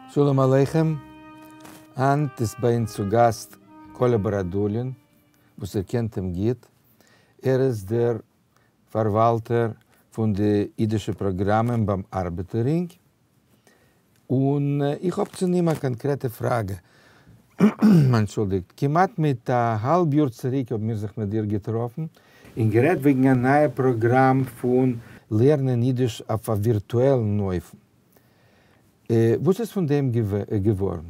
שלום עליכם, הײַנט איז בײַ אונדז צו גאַסט קאָלע באָראָדולין, וואָס איר קענט אים גוט. ער איז דער פֿאַרוואַלטער פֿון די ייִדישע פּראָגראַמען בײַם אַרבעטער-רינג. און איך האב צו אים א קאנקרעטע פראגע. אנטשולדיגט, כמעט מיט א האלב יאר צוריק האבן מיר זיך מיט דיר געטראפן און גערעדט וועגן א נייע פראגראם פון לערנען אידיש אויף א ווירטועלן אופן. וואס איז פון דעם געווארן?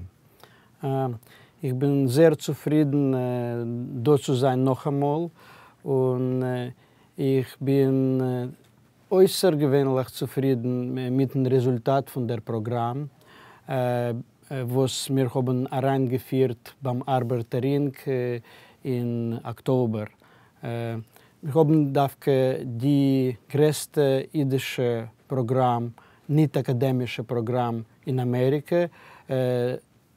איך בין זייער צופרידן דא צו זיין נאכאמאל, און איך בין אויסערגעווענליך צופרידן מיטן רעזולטאט פון דער פראגראם וואס מיר האבן אריינגעפירט ביים ארבעטער רינג אין אקטאבער. מיר האבן דווקא די גרעסטע אידישע פראגראם, ניט אקאדעמישע פראגראם אין אמעריקע.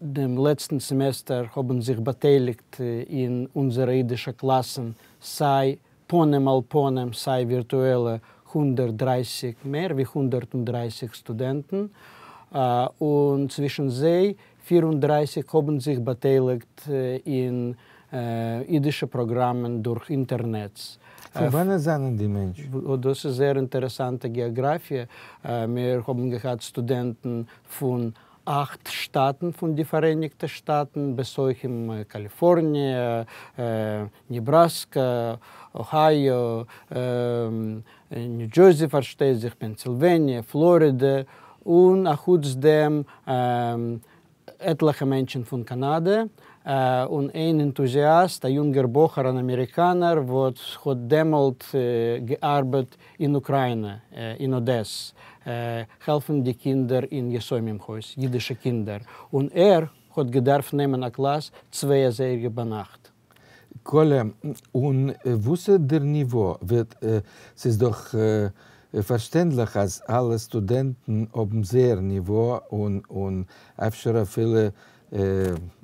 דעם לעצטן סעמעסטער האבן זיך באטייליגט אין אונזערע אידישע קלאסן סיי פנים אל פנים סיי ווירטועלע 130, מער ווי 130 סטודענטן, און צווישן זיי 34 האבן זיך באטייליגט אין אידישע פראגראמען דורך אינטערנעץ. פון וואנעט זענען די מענטשן? דאס איז זייער אינטערעסאנטע געאגראפיע, מיר האבן געהאט סטודענטן פון אכט שטאטן פון די פאראייניגטע שטאטן, בתוכם קאליפארניע, נעבראסקא, אהייאו, ניו דזשערסי פארשטייט זיך, פענסילוועניע, פלארידע, און אחוץ דעם עטליכע מענטשן פון קאנאדע, און איין ענטוזיאסט, א יונגער בחור אן אמעריקאנער וואס האט דעמאלט געארבעט אין אוקריינע, אין אדעס, העלפן די קינדער אין יתומים הויז, אידישע קינדער, און ער האט געדארפט נעמען א קלאס צוויי אזייגער ביינאכט. קאלע, און וואס איז דער ניווא? ס'איז דאך פארשטענדליך אז אלע סטודענטן האבן זייער ניווא, און אפשר אפילו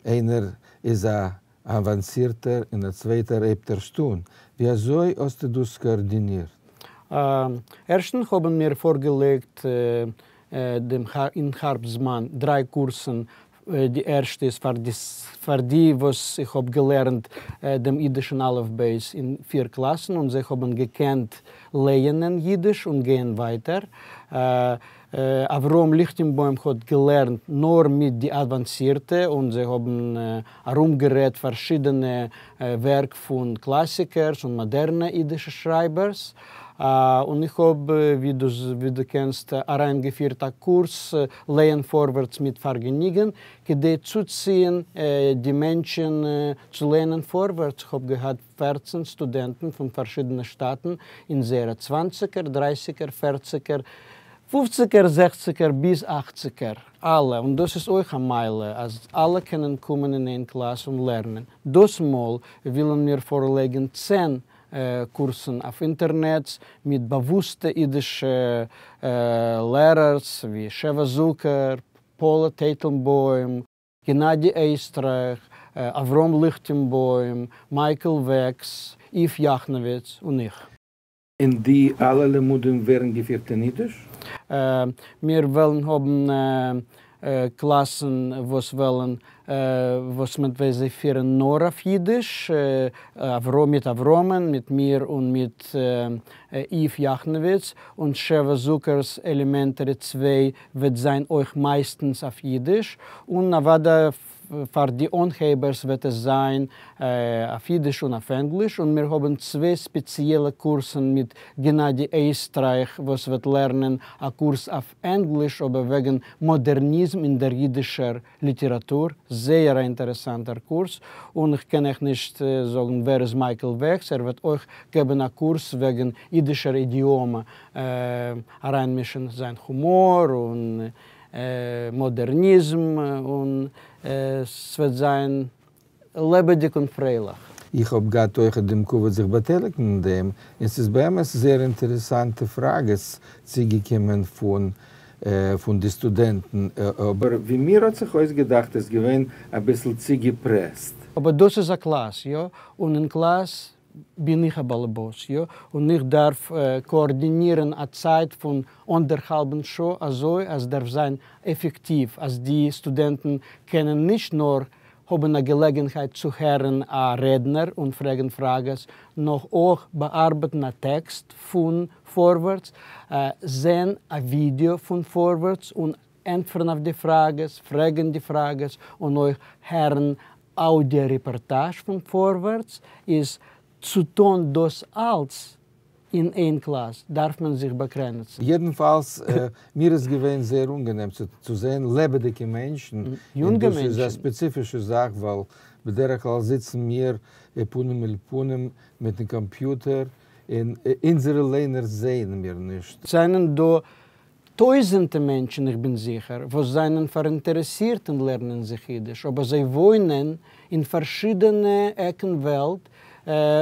איינער איז א אוואנסירטער און א צווייטער הייבט ערשט אן. ווי אזוי האסטו דאס קאארדינירט? ערשטנס האבן מיר פארגעלייגט דעם אין הארבסט זמן דריי קורסן, די ערשטע איז פאר די וואס איך האב געלערנט דעם אידישן אלף בית אין פיר קלאסן און זיי האבן געקענט לייענען אידיש און גיין ווייטער. אברהם ליכטענבוים האט געלערנט נאר מיט די אוואנסירטע און זיי האבן ארומגערעדט פארשידענע ווערק פון קלאסיקערס און מאדערנע אידישע שרייבערס, און איך האב ווי דו קענסט אריינגעפירט א קורס לייען פארווערטס מיט פארגעניגען כדי צוציען די מענטשען צו לייענען פארווערטס, כ'האב געהאט 14 סטודענטן פון פארשידענע שטאטן אין זייערע צוואנציגער, דרייסיגער, פערציגער, פופציגער, זעכציגער ביז אכציגער, אלע, און דאס איז אויך א מעלה אז אלע קענען קומען אין איין קלאס און לערנען. דאס מאל ווילן מיר פארלייגן 10 קורסן אויף אינטערנעץ מיט באוואוסטע אידישע לערערס ווי שבע זוקער, פאלא טייטלבוים, גענאדי עסטרייך, אברהם ליכטענבוים, מייקל וועקס, איוו יאכנאוויץ און איך. און די אלע לימודים ווערן געפירט אין אידיש? מיר וועלן האבן קלאסן וואס וועלן וואס מען וועט זיי פירן נאר אויף אידיש, מיט אברהמ'ן, מיט מיר און מיט איוו יאכנאוויץ, און שבע זוקער'ס עלעמענטערי צוויי וועט זיין אויך מייסטנס אויף אידיש, און אוודאי פאר די אנהייבערס וועט עס זיין אויף אידיש און אויף ענגליש, און מיר האבן צוויי ספעציעלע קורסן מיט גענאדי עסטרייך וואס וועט לערנען א קורס אויף ענגליש אבער וועגן מאדערניזם אין דער אידישער ליטעראטור, זייער א אינטערעסאנטער קורס, און איך קען אייך נישט זאגן ווער איז מייקל וועקס, ער וועט אויך געבן א קורס וועגן אידישער אידיאמע, אריינמישן זיין הומאר און מאדערניזם און ס'וועט זיין לעבעדיג און פרייליך. איך האב געהאט אויכעט דעם כבוד זיך באטייליגן אין דעם, און ס'איז באמת זייער אינטערעסאנטע פראגעס צוגעקומען פון פון די סטודענטן, אבער ווי מיר האט זיך אויסגעדאכט איז געווען אביסל צוגעפרעסט. אבער דאס איז א קלאס, יא? און אין קלאס. בין איך א באלעבאס, יא, און איך דארף קאארדינירן א צייט פון אנדערהאלבן שעה אזוי אז דארף זיין עפעקטיוו אז די סטודענטן קענען נישט נאר האבן א געלעגנהייט צו הערן א רעדנער און פרעגן פראגעס, נאר אויך באארבעטן א טעקסט פון פארווערטס, זען א ווידעא פון פארווערטס און ענטפערן אויף די פראגעס, פרעגן די פראגעס, און אויך הערן אוידיא רעפארטאזש פון פארווערטס, איז צו טון דאס אלץ אין איין קלאס דארף מען זיך באגרעניצן. יעדנפאלס, מיר איז געווען זייער אנגענעם צו זען לעבעדיגע מענטשן, און דאס איז א ספעציפישע זאך ווייל בדרך כלל זיצן מיר פנים אל פנים מיטן קאמפיוטער און אונזערע ליינער זעען מיר נישט. זענען דא טויזענטע מענטשן, איך בין זיכער, וואס זענען פאראינטערעסירט אין לערנען זיך אידיש, אבער זיי וואוינען אין פארשידענע עקן וועלט,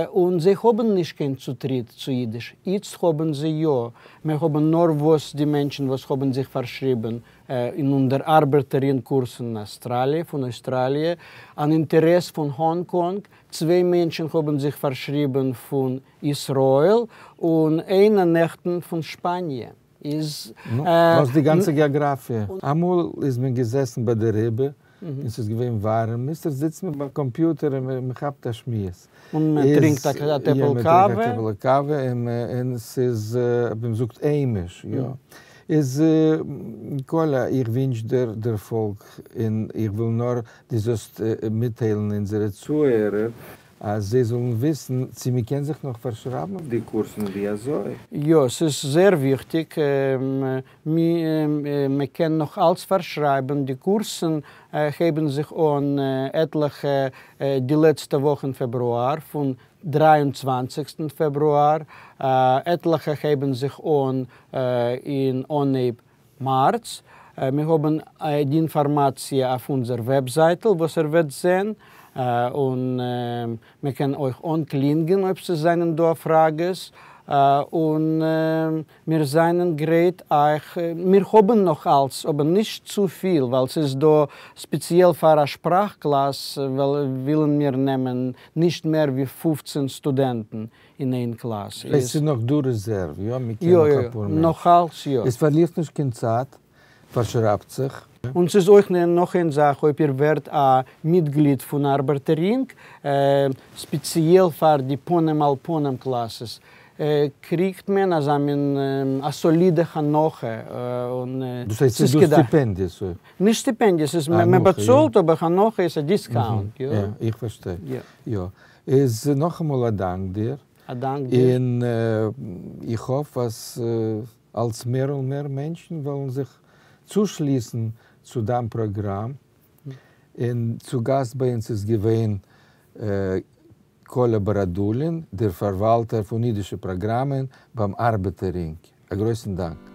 און זיי האבן נישט קיין צוטריט צו אידיש. איצט האבן זיי יא. מיר האבן נארוואס די מענטשן וואס האבן זיך פארשריבן אין אונזער ארבעטער רינג קורס אין אסטראליע, פון אויסטראליע, אן אינטערעס פון האנג קאנג, צוויי מענטשן האבן זיך פארשריבן פון ישראל, און איינער נעכטן פון שפאניע. איז. נו, וואס די גאנצע געאגראפיע? אמאל איז מען געזעסן ביי די רבי און ס'איז געווען ווארעם, איצטער זיצט מען ביים קאמפיוטער און מען כאפט א שמועס. און מען טרינקט א טעפל קאווע. יא, מען טרינקט א טעפל קאווע און ס'איז, ווי מען זאגט, היימיש, יא. איז קאליא, איך ווינטש דיר דערפאלג און איך וויל נאר דו זאלסט מיטטיילן אונזערע צוהערער אז זיי זאלן וויסן צו מען קען זיך נאך פארשרייבן אויף די קורסן און ווי אזוי. יא, ס'איז זייער וויכטיג, מען קען נאך אלץ פארשרייבן, די קורסן הייבן זיך אן עטליכע די לעצטע וואך אין פעברואר, פון דריי און צוואנציגסטן פעברואר, עטליכע הייבן זיך אן אין אנהייב מארץ. מיר האבן די אינפארמאציע אויף אונזער וועבזייטל וואס איר וועט זען, און מען קען אויך אנקלינגען אויב ס'זענען דא פראגעס, און מיר זענען גרייט אייך, מיר האבן נאך אלץ אבער נישט צופיל ווייל ס'איז דא ספעציעל פאר א שפראך קלאס ווילן מיר נעמען נישט מער ווי 15 סטודענטן אין איין קלאס. עס איז נאך דא רעזערוו, יא? מען קען נאך אפאר מענטשן. נאך אלץ יא. עס פארלירט נישט קיין צייט, פארשרייבט זיך. און ס'איז אויך נאך איין זאך, אויב איר ווערט א מיטגליד פון ארבעטער רינג, ספעציעל פאר די פנים אל פנים קלאסעס, קריגט מען אזא מין א סאלידע הנחה, און דאס הייסט ס'איז דא סטיפענדיעס אויך? נישט סטיפענדיעס, ס'איז מען באצאלט אבער הנחה איז א דיסקאונט, יא. איך פארשטיי, יא. איז נאכאמאל א דאנק דיר. א דאנק דיר. און איך האף אז אלץ מער און מער מענטשן וועלן זיך צושליסן צו דיין פראגראם. און צו גאסט ביי אונז איז געווען קאליא באראדולין, דער פארוואלטער פון אידישע פראגראמען ביים ארבעטער רינג. א גרויסן דאנק.